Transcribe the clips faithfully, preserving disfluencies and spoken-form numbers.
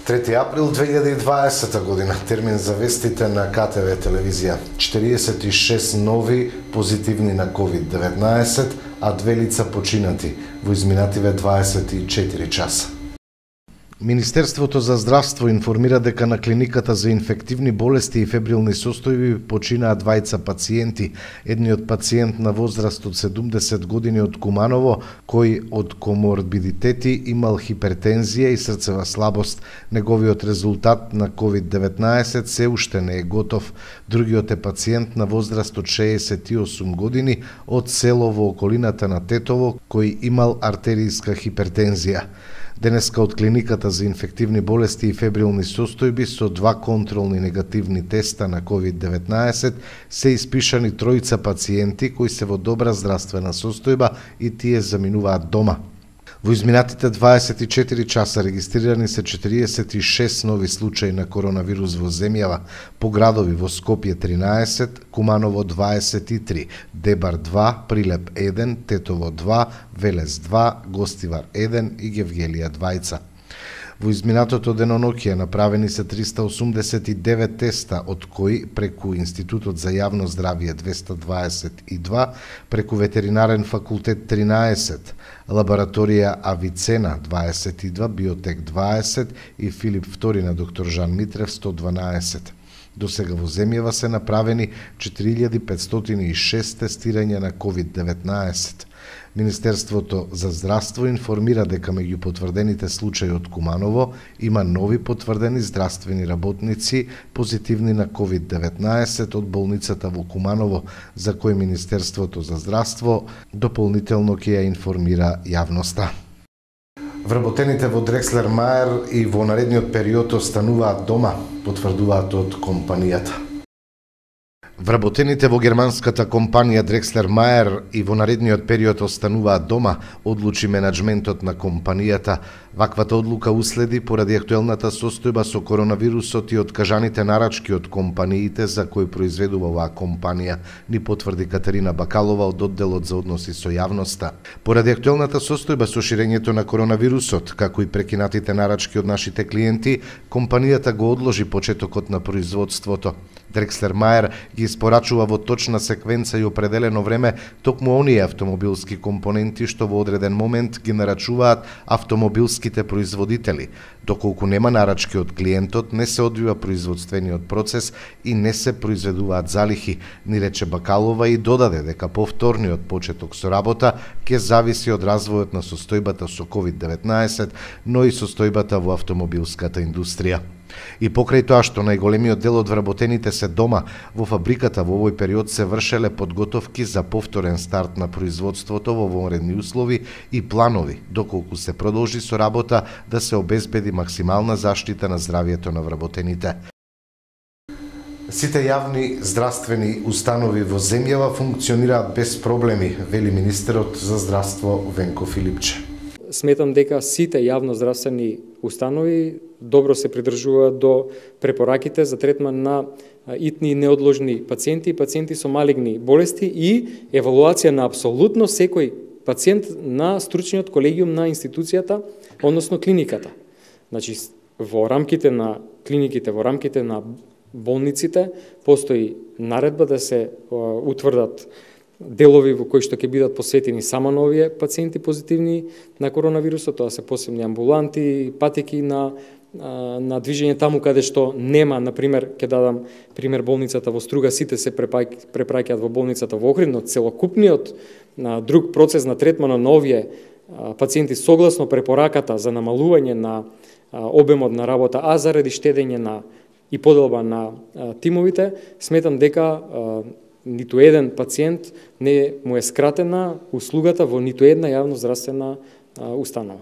трети април две илјади и дваесета година, термин за вестите на К Т В телевизија. четириесет и шест нови позитивни на ковид деветнаесет, а две лица починати во изминативе дваесет и четири часа. Министерството за здравство информира дека на клиниката за инфективни болести и фебрилни состојби починаа двајца пациенти. Едниот пациент на возраст од седумдесет години од Куманово, кој од коморбидитети имал хипертензија и срцева слабост. Неговиот резултат на ковид деветнаесет се уште не е готов. Другиот е пациент на возраст од шеесет и осум години од село во околината на Тетово, кој имал артеријска хипертензија. Денеска од клиниката за инфективни болести и фебрилни состојби со два контролни негативни теста на ковид деветнаесет се испишани тројца пациенти кои се во добра здравствена состојба и тие заминуваат дома. Во изминатите дваесет и четири часа регистрирани се четириесет и шест нови случаи на коронавирус во земјава, по градови во Скопје тринаесет, Куманово дваесет и три, Дебар два, Прилеп еден, Тетово два, Велес два, Гостивар еден и Гевгелија двајца. Во изминатото деноноќие направени се триста осумдесет и девет теста, од кои преку Институтот за јавно здравје двеста дваесет и два, преку Ветеринарен факултет тринаесет, лабораторија Авицена дваесет и два, Биотек дваесет и Филип втори на доктор Жан Митрев сто дванаесет. До сега во земјава се направени четири илјади петстотини и шест тестирања на ковид деветнаесет. Министерството за здравство информира дека меѓу потврдените случаи од Куманово има нови потврдени здравствени работници позитивни на ковид деветнаесет од болницата во Куманово, за кој Министерството за здравство дополнително ќе ја информира јавноста. Вработените во Дрекслер Мајер и во наредниот период остануваат дома, потврдуваат од компанијата. Вработените во германската компанија Дрекслер Мајер и во наредниот период остануваат дома, одлучи менаџментот на компанијата. Ваквата одлука уследи поради актуелната состојба со коронавирусот и откажаните нарачки од компаниите за кои произведува оваа компанија, ни потврди Катерина Бакалова од одделот за односи со јавноста. Поради актуелната состојба со ширењето на коронавирусот, како и прекинатите нарачки од нашите клиенти, компанијата го одложи почетокот на производството. Дрекслер Мајер ги испорачува во точна секвенца и определено време токму оние автомобилски компоненти што во одреден момент ги нарачуваат автомобилските производители. Доколку нема нарачки од клиентот, не се одвива производствениот процес и не се произведуваат залихи, ни рече Бакалова и додаде дека повторниот почеток со работа ќе зависи од развојот на состојбата со ковид деветнаесет, но и состојбата во автомобилската индустрија. И покрај тоа што најголемиот дел од вработените се дома, во фабриката во овој период се вршеле подготовки за повторен старт на производството во вонредни услови и планови, доколку се продолжи со работа да се обезбеди максимална заштита на здравјето на вработените. Сите јавни здравствени установи во земјава функционираат без проблеми, вели министерот за здравство Венко Филипче. Сметам дека сите јавноздравствени установи добро се придржуваат до препораките за третман на итни и неодложни пациенти и пациенти со малигни болести и евалуација на апсолутно секој пациент на стручниот колегиум на институцијата, односно клиниката. Значи, во рамките на клиниките, во рамките на болниците, постои наредба да се утврдат делови во кои што ќе бидат посветени само на овие пациенти позитивни на коронавирусот, тоа се посебни амбуланти, патеки на на движење таму каде што нема, на пример, ќе дадам пример болницата во Струга, сите се препраќаат во болницата во Охрид, но целокупниот на друг процес на третмана на овие пациенти согласно препораката за намалување на обемот на работа, а заради штедење на и поделба на тимовите, сметам дека ниту еден пациент не му е скратена услугата во ниту една јавноздравствена установа.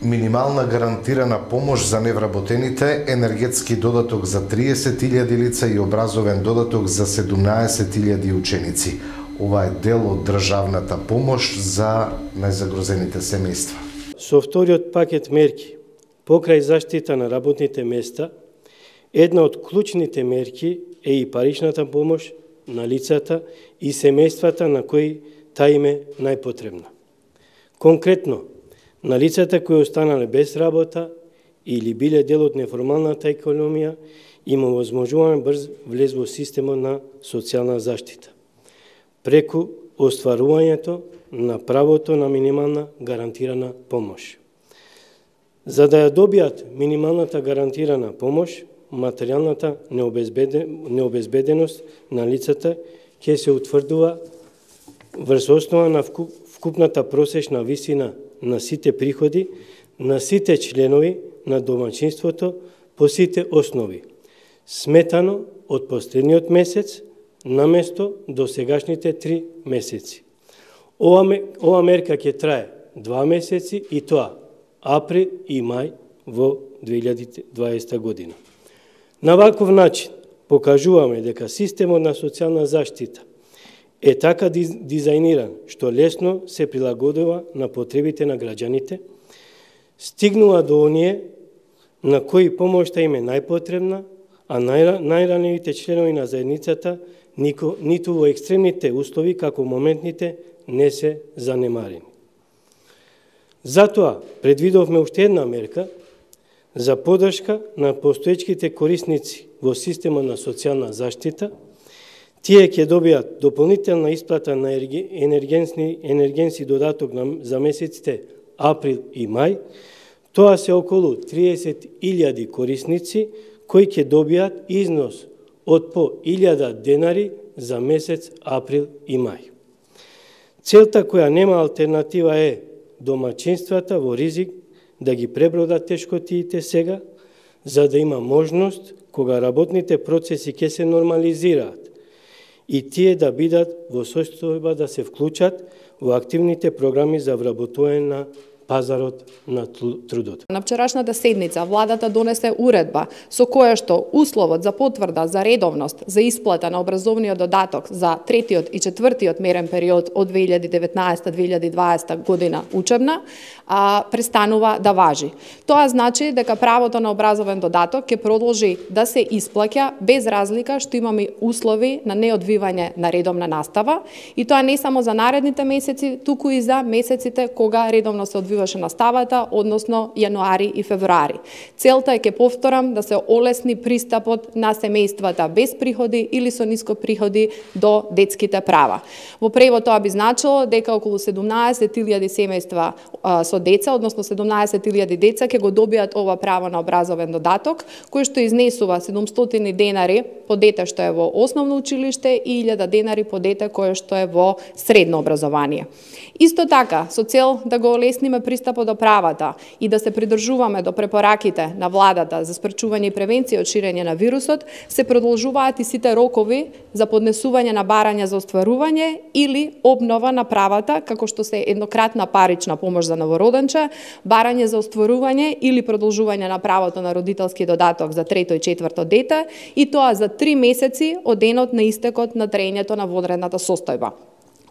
Минимална гарантирана помош за невработените, енергетски додаток за триесет илјади лица и образовен додаток за седумнаесет илјади ученици. Ова е дел од државната помош за најзагрозените семејства. Со вториот пакет мерки покрај заштита на работните места, една од клучните мерки е и паричната помош на лицата и семејствата на кои таа им е најпотребна. Конкретно, на лицата кои останале без работа или биле дел од неформалната економија, има возможување брз влез во системот на социјална заштита, преку остварувањето на правото на минимална гарантирана помош. За да ја добијат минималната гарантирана помош, материјалната необезбеденост на лицата ќе се утврдува врз основа на вкупната просечна висина на сите приходи на сите членови на домаќинството по сите основи, сметано од последниот месец наместо до сегашните три месеци. Ова, ова мерка ќе трае два месеци и тоа април и мај во две илјади дваесета година. На ваков начин покажуваме дека системот на социјална заштита е така дизајниран што лесно се прилагодува на потребите на граѓаните, стигнува до оние на кои помошта им е најпотребна, а најранливите членови на заедницата ниту во екстремните услови како моментните не се занемарени. Затоа предвидовме уште една мерка за поддршка на постоечките корисници во системот на социјална заштита. Тие ќе добијат дополнителна исплата на енергенски, енергенски додаток за месеците април и мај. Тоа се околу триесет илјади корисници кои ќе добијат износ од по илјада денари за месец април и мај. Целта која нема алтернатива е домаќинствата во ризик да ги пребродат тешкотиите сега, за да има можност кога работните процеси ќе се нормализираат и тие да бидат во состојба да се вклучат во активните програми за вработување на пазарот на трудот. На вчерашната седница владата донесе уредба со која што условот за потврда за редовност за исплата на образовниот додаток за третиот и четвртиот мерен период од две илјади деветнаесета две илјади дваесета година учебна а, престанува да важи. Тоа значи дека правото на образовен додаток ќе продолжи да се исплаќа без разлика што имаме услови на неодвивање на редовна настава и тоа не само за наредните месеци, туку и за месеците кога редовно се одвива наставата, односно јануари и февруари. Целта е, ке повторам, да се олесни пристапот на семејствата без приходи или со ниско приходи до детските права. Во превод тоа би значило дека околу седумнаесет илјади семејства а, со деца, односно седумнаесет илјади деца ќе го добијат ова право на образовен додаток, кој што изнесува седумстотини денари по дете што е во основно училиште и илјада денари по дете кое што е во средно образование. Исто така, со цел да го олесниме пристапот до правата и да се придржуваме до препораките на владата за спречување и превенција од ширење на вирусот, се продолжуваат и сите рокови за поднесување на барања за остварување или обнова на правата, како што се еднократна парична помош за новороденче, барање за остварување или продолжување на правото на родителски додаток за трето и четврто дете, и тоа за три месеци од денот на истекот на траењето на вонредната состојба.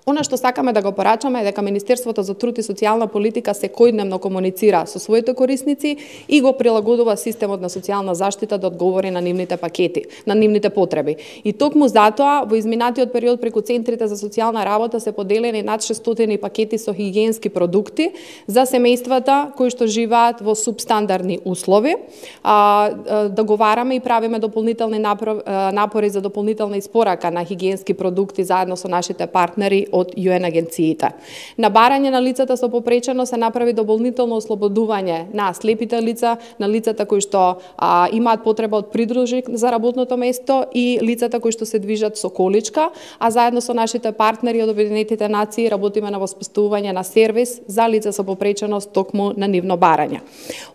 Она што сакаме да го порачаме е дека Министерството за труд и социјална политика секојдневно комуницира со своите корисници и го прилагодува системот на социјална заштита да одговори на нивните пакети, на нивните потреби. И токму затоа во изминатиот период преку центрите за социјална работа се поделени над шестстотини пакети со хигиенски продукти за семејствата кои што живеат во субстандардни услови. А, договараме и правиме дополнителни напори за дополнителна испорака на хигиенски продукти заедно со нашите партнери од ю ен агенциите. На барање на лицата со попречено се направи дополнително ослободување на слепите лица, на лицата кои што а, имаат потреба од придружник за работното место и лицата кои што се движат со количка, а заедно со нашите партнери од Обединетите нации работиме на воспоставување на сервис за лица со попреченост токму на нивно барање.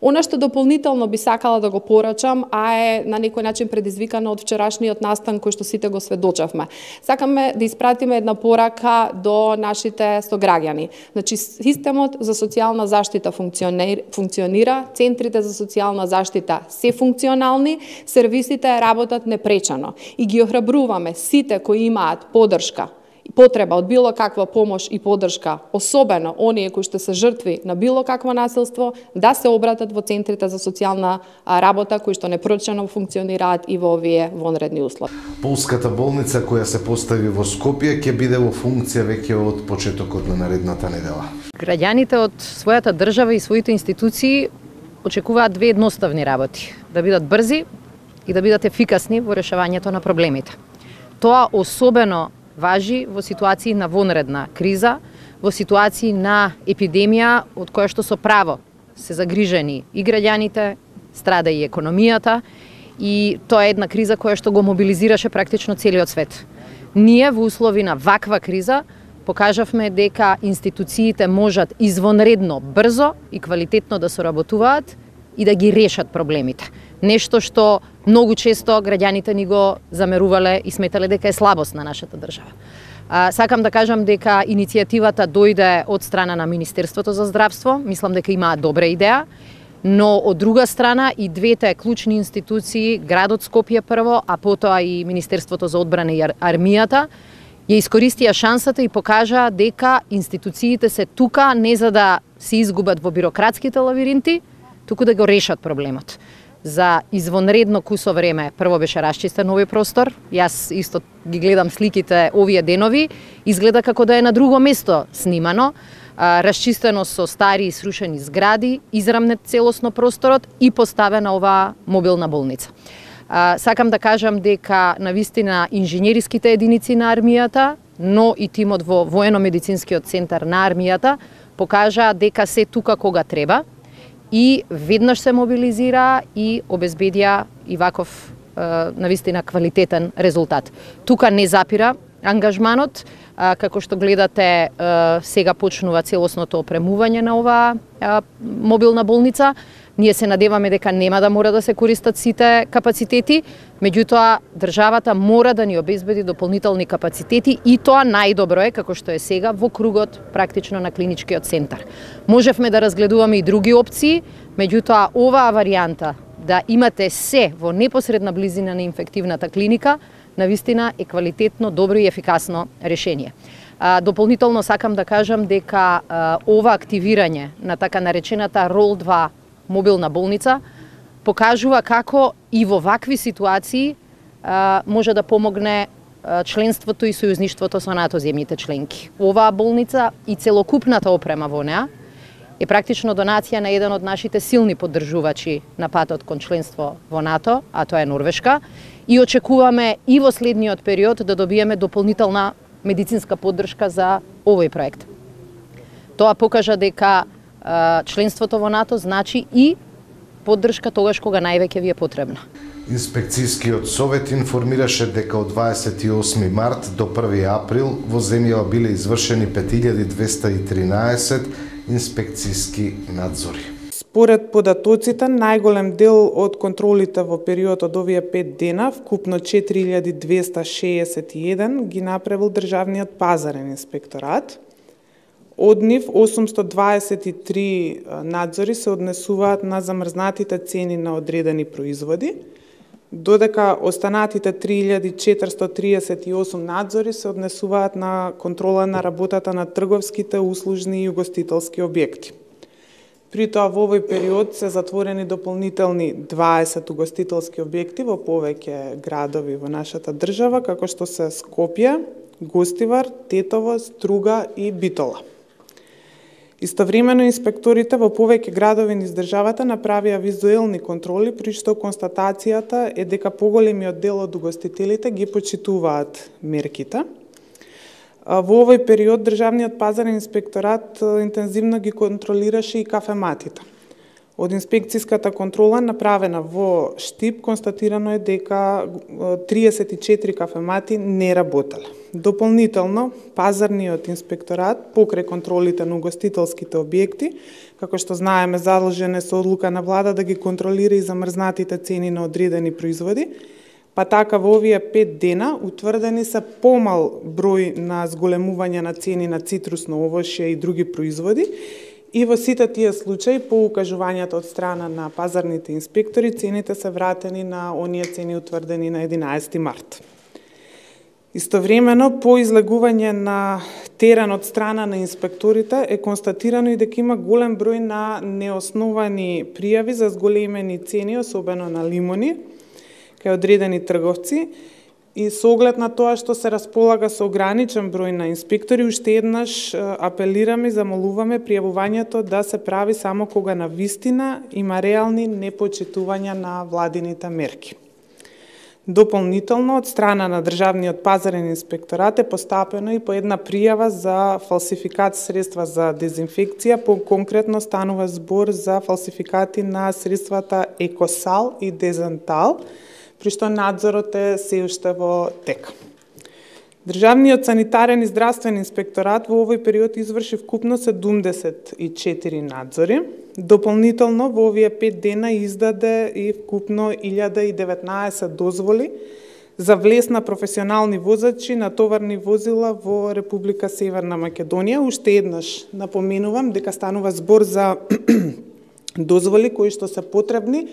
Она што дополнително би сакала да го порачам, а е на некој начин предизвикано од вчерашниот настан кој што сите го сведочавме. Сакаме да испратиме една порака до нашите сограѓани. Значи, системот за социјална заштита функционира, центрите за социјална заштита се функционални, сервисите работат непречано и ги охрабруваме сите кои имаат поддршка потреба од било каква помош и поддршка, особено оние кои што се жртви на било какво насилство, да се обратат во центрите за социјална работа кои што непречено функционираат и во овие вонредни услови. Полската болница која се постави во Скопје ќе биде во функција веќе од почетокот на наредната недела. Граѓаните од својата држава и своите институции очекуваат две едноставни работи: да бидат брзи и да бидат ефикасни во решавањето на проблемите. Тоа особено важи во ситуации на вонредна криза, во ситуации на епидемија од која што со право се загрижени и граѓаните, страда и економијата, и тоа е една криза која што го мобилизираше практично целиот свет. Ние во услови на ваква криза покажавме дека институциите можат извонредно, брзо и квалитетно да соработуваат и да ги решат проблемите. Нешто што многу често граѓаните ни го замерувале и сметале дека е слабост на нашата држава. А, сакам да кажам дека иницијативата дојде од страна на Министерството за здравство, мислам дека имаат добра идеја, но од друга страна и двете клучни институции, градот Скопје прво, а потоа и Министерството за одбрана и армијата, ја искористија шансата и покажаа дека институциите се тука не за да се изгубат во бирократските лавиринти, туку да го решат проблемот. За извонредно кусо време прво беше расчистен овој простор. Јас исто ги гледам сликите овие денови, изгледа како да е на друго место снимано. Расчистено со стари и срушени згради, израмнет целосно просторот и поставена оваа мобилна болница. Сакам да кажам дека навистина инженериските единици на армијата, но и тимот во воено-медицинскиот центар на армијата покажа дека се тука кога треба и веднаш се мобилизира и обезбедија и ваков навистина квалитетен резултат. Тука не запира ангажманот, како што гледате сега почнува целосното опремување на оваа мобилна болница. Ние се надеваме дека нема да мора да се користат сите капацитети, меѓутоа државата мора да ни обезбеди дополнителни капацитети и тоа најдобро е како што е сега во кругот практично на клиничкиот центар. Можевме да разгледуваме и други опции, меѓутоа оваа варијанта да имате се во непосредна близина на инфективната клиника навистина е квалитетно, добро и ефикасно решение. Дополнително сакам да кажам дека ова активирање на така наречената Рол два мобилна болница покажува како и во вакви ситуации може да помогне членството и сојузништвото со НАТО земјите членки. Оваа болница и целокупната опрема во неа е практично донација на еден од нашите силни поддржувачи на патот кон членство во НАТО, а тоа е Норвешка, и очекуваме и во следниот период да добиеме дополнителна медицинска поддршка за овој проект. Тоа покажа дека членството во НАТО значи и поддршка тогаш кога највеќе ви е потребна. Инспекцијскиот совет информираше дека од дваесет и осми март до први април во земјава биле извршени пет илјади двесте и тринаесет инспекцијски надзори. Според податоците, најголем дел од контролите во период од овие пет дена, вкупно четири илјади двесте шеесет и еден, ги направил Државниот пазарен инспекторат. Од нив осумстотини дваесет и три надзори се однесуваат на замрзнатите цени на одредени производи, додека останатите три илјади четиристотини триесет и осум надзори се однесуваат на контрола на работата на трговските, услужни и угостителски објекти. При тоа во овој период се затворени дополнителни дваесет угостителски објекти во повеќе градови во нашата држава, како што се Скопје, Гостивар, Тетово, Струга и Битола. Истовремено инспекторите во повеќе градови низ државата направија визуелни контроли, при што констатацијата е дека поголемиот дел од угостителите ги почитуваат мерките. Во овој период Државниот пазарен инспекторат интензивно ги контролираше и кафематите. Од инспекцијската контрола направена во Штип констатирано е дека триесет и четири кафемати не работеле. Дополнително, пазарниот инспекторат покрај контролите на угостителските објекти, како што знаеме задолжен е со одлука на влада да ги контролира и замрзнатите цени на одредени производи, па така во овие пет дена утврдени се помал број на зголемување на цени на цитрусно овошје и други производи, и во сите тие случаи, по укажувањата од страна на пазарните инспектори, цените се вратени на оние цени утврдени на единаесети март. Истовремено, по излегување на терен од страна на инспекторите е констатирано и дека има голем број на неосновани пријави за зголемени цени, особено на лимони, кај одредени трговци. И со оглед на тоа што се располага со ограничен број на инспектори, уште еднаш апелираме и замолуваме пријавувањето да се прави само кога на вистина има реални непочитувања на владините мерки. Дополнително, од страна на Државниот пазарен инспекторат е постапено и по една пријава за фалсификат средства за дезинфекција, по-конкретно станува збор за фалсификати на средствата Екосал и Дезентал, при што надзорот е се уште во тек. Државниот санитарен и здравствен инспекторат во овој период изврши вкупно седумдесет и четири надзори. Дополнително во овие пет дена издаде и вкупно илјада и деветнаесет дозволи за влез на професионални возачи на товарни возила во Република Северна Македонија. Уште еднаш напоменувам дека станува збор за дозволи кои што се потребни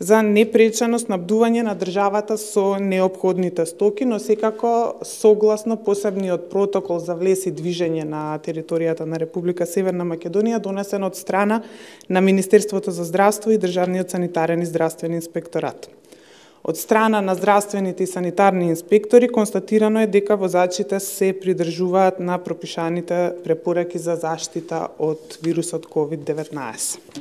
за непречено снабдување на државата со неопходните стоки, но секако согласно посебниот протокол за влез и движење на територијата на Република Северна Македонија, донесен од страна на Министерството за здравство и Државниот санитарен и здравствен инспекторат. Од страна на здравствените и санитарни инспектори констатирано е дека возачите се придржуваат на пропишаните препораки за заштита од вирусот ковид деветнаесет.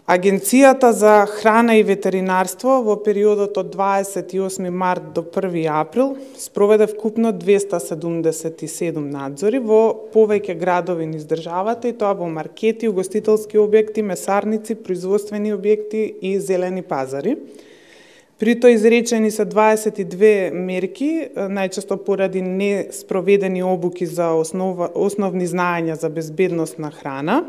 Агенцијата за храна и ветеринарство во периодот од дваесет и осми март до први април спроведе вкупно двеста седумдесет и седум надзори во повеќе градови низ државата, и тоа во маркети, угостителски објекти, месарници, производствени објекти и зелени пазари. При тоа изречени се дваесет и две мерки, најчесто поради не спроведени обуки за основа, основни знаења за безбедност на храна.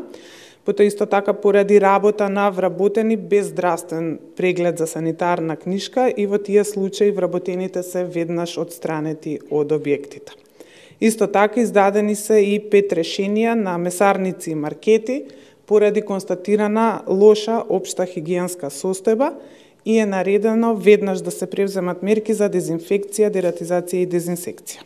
Потоа исто така поради работа на вработени без здравствен преглед за санитарна книшка, и во тие случаи вработените се веднаш одстранети од објектите. Исто така издадени се и пет решенија на месарници и маркети поради констатирана лоша општа хигиенска состојба, и е наредено веднаш да се превземат мерки за дезинфекција, дератизација и дезинсекција.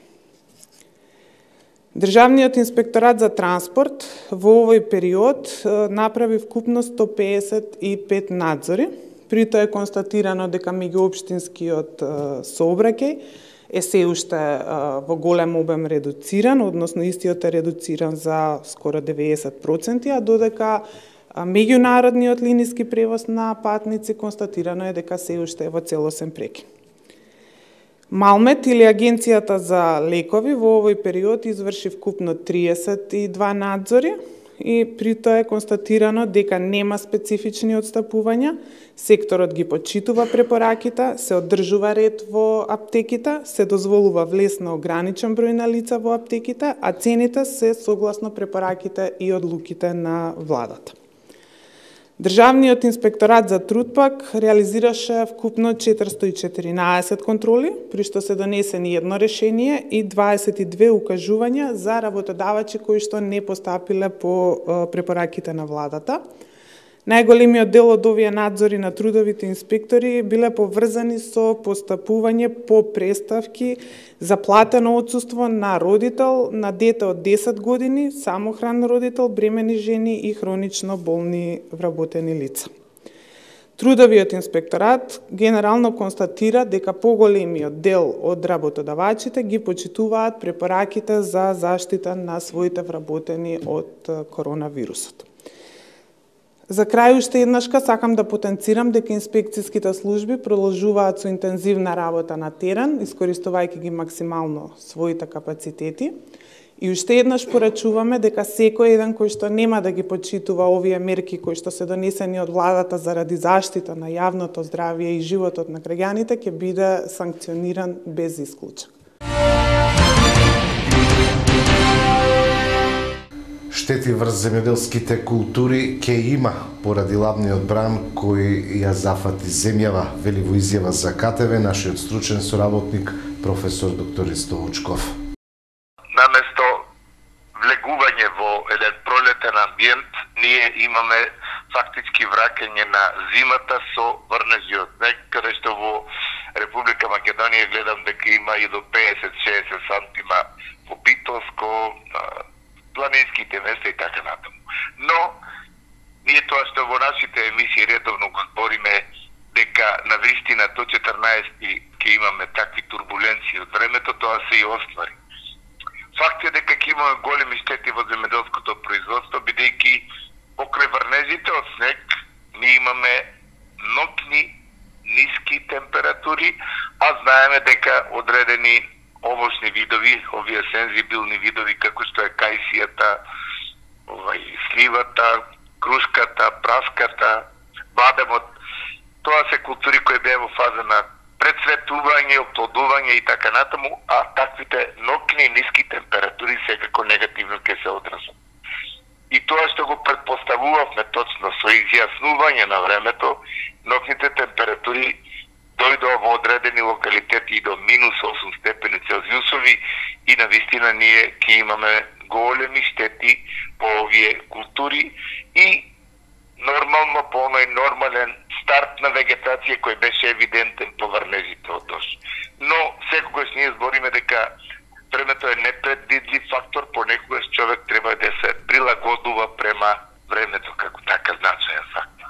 Државниот инспекторат за транспорт во овој период направи вкупно сто пеесет и пет надзори. При тоа е констатирано дека меѓуопштинскиот сообраќај е се уште во голем обем редуциран, односно истиот е редуциран за скоро деветдесет проценти, а додека меѓународниот линиски превоз на патници констатирано е дека се уште е во целосен прекин. Малмет или Агенцијата за лекови во овој период изврши вкупно триесет и два надзори, и при тоа е констатирано дека нема специфични одстапувања, секторот ги почитува препораките, се одржува ред во аптеките, се дозволува влез на ограничен број на лица во аптеките, а цените се согласно препораките и одлуките на владата. Државниот инспекторат за труд пак реализираше вкупно четиристо и четиринаесет контроли, при што се донесени едно решение и дваесет и две укажувања за работодавачи кои што не постапиле по препораките на владата. Најголемиот дел од овие надзори на трудовите инспектори биле поврзани со постапување по преставки за платено отсуство на родител на дете од десет години, самохран родител, бремени жени и хронично болни вработени лица. Трудовиот инспекторат генерално констатира дека поголемиот дел од работодавачите ги почитуваат препораките за заштита на своите вработени од коронавирусот. За крај уште еднашка сакам да потенцирам дека инспекцијските служби продолжуваат со интензивна работа на терен, искористувајќи ги максимално своите капацитети. И уште еднаш порачуваме дека секој еден кој што нема да ги почитува овие мерки кои што се донесени од владата заради заштита на јавното здравје и животот на граѓаните ќе биде санкциониран без исклучок. Штети врз земјоделските култури ќе има поради ладниот бран кој ја зафати земјава, вели во изјава за К Т В нашиот стручен соработник професор доктор Ристо Вучков. Наместо влегување во еден пролетен амбиент, ние имаме фактички враќање на зимата со врнежиот снег, каде што во Република Македонија гледам дека има и до педесет до шеесет сантима во Битолско, планинските места и така натаму. Но ние тоа што во нашите емисии редовно го збориме дека на вистина до четрнаесети ќе имаме такви турбуленции од времето, тоа се и оствари. Факт е дека ќе имаме големи штети во земјоделското производство, бидејќи покрај врнежите од снег ние имаме ноќни ниски температури, а знаеме дека одредени овошни видови, овие сензибилни видови како што е кајсијата, овај сливата, крушката, праската, бадемот, тоа се култури кои беа во фаза на прецветување, оплодување и така натаму, а таквите ноќни ниски температури секако негативно ќе се одразат. И тоа што го предпоставувавме точно со изјаснување на времето, ноќните температури дојдоа во одредени локалитети и до минус осум степени Целзиусови и навистина ние ќе имаме големи штети по овие култури и нормално по оној нормален старт на вегетација кој беше евидентен по врнежите од дожд. Но секогаш ние збориме дека времето е непредвидлив фактор, понекогаш човек треба да се прилагодува према времето како така значаен фактор.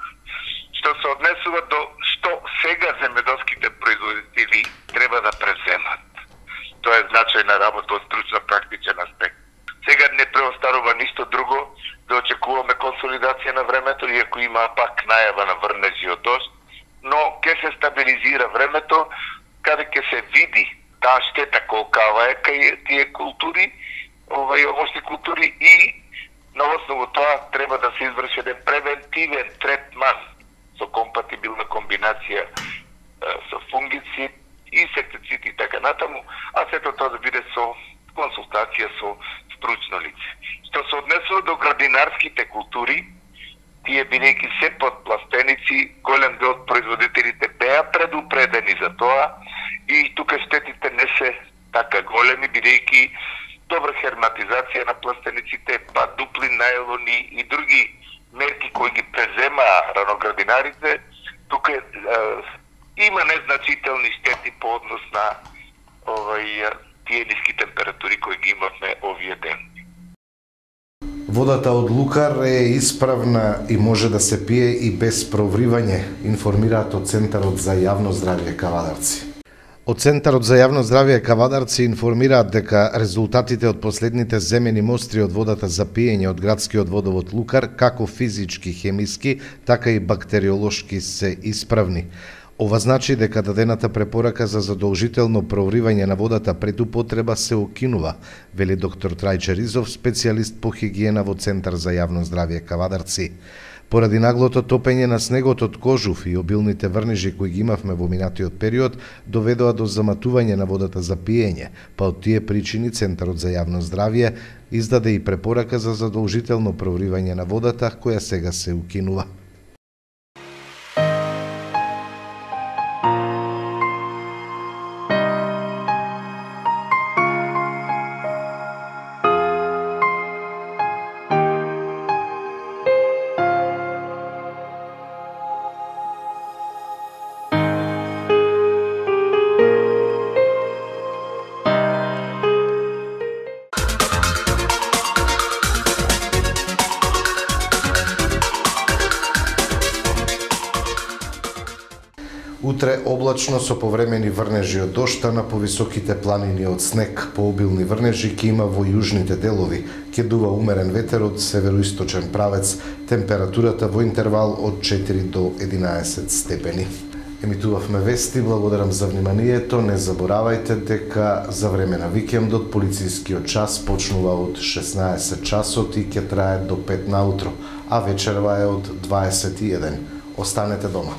Што се однесува до што сега земјоделските производители треба да превземат. Тоа е значајна работа од стручно практичен аспект. Сега не преостарува ништо друго да очекуваме консолидација на времето, иако има пак најава на врнежи од дожд, но ќе се стабилизира времето, каде ќе се види таа штета колкава е кај тие култури, овај овошни култури и на основу тоа треба да се изврши еден превентивен третман со компатибилна комбинација со фунгицид, инсектицид и така натаму, а сето тоа да биде со консултација со стручно лице. Што се однесува до градинарските култури, тие бидејќи се под пластеници, голем дел од производителите беа предупредени за тоа и тука штетите не се така големи, бидејќи добра херматизација на пластениците, па дупли најлони и други мерки кои ги преземаа раноградинарите, тука е, има незначителни штети по однос на овај тие ниски температури кои ги имавме овие дени. Водата од Лукар е исправна и може да се пие и без провривање, информираат од Центарот за јавно здравје Кавадарци. Од Центарот за јавно здравје Кавадарци информираат дека резултатите од последните земени мостри од водата за пиење од градскиот водовод Лукар, како физички, хемиски, така и бактериолошки се исправни. Ова значи дека дадената препорака за задолжително провривање на водата пред употреба се укинува, вели доктор Трајче Ризов, специјалист по хигиена во Центар за јавно здравје Кавадарци. Поради наглото топење на снегот од Кожув и обилните врнежи кои ги имавме во минатиот период, доведоа до заматување на водата за пиење, па од тие причини Центарот за јавно здравје издаде и препорака за задолжително провривање на водата, која сега се укинува. Утре облачно со повремени врнежи од дожд, а на повисоките планини од снег. Пообилни врнежи ќе има во јужните делови. Ќе дува умерен ветер од североисточен правец. Температурата во интервал од четири до единаесет степени. Емитувавме вести, благодарам за вниманието. Не заборавајте дека за време на викендот полицискиот час почнува од шеснаесет часот и ќе трае до пет наутро, а вечерва е од дваесет и еден. Останете дома.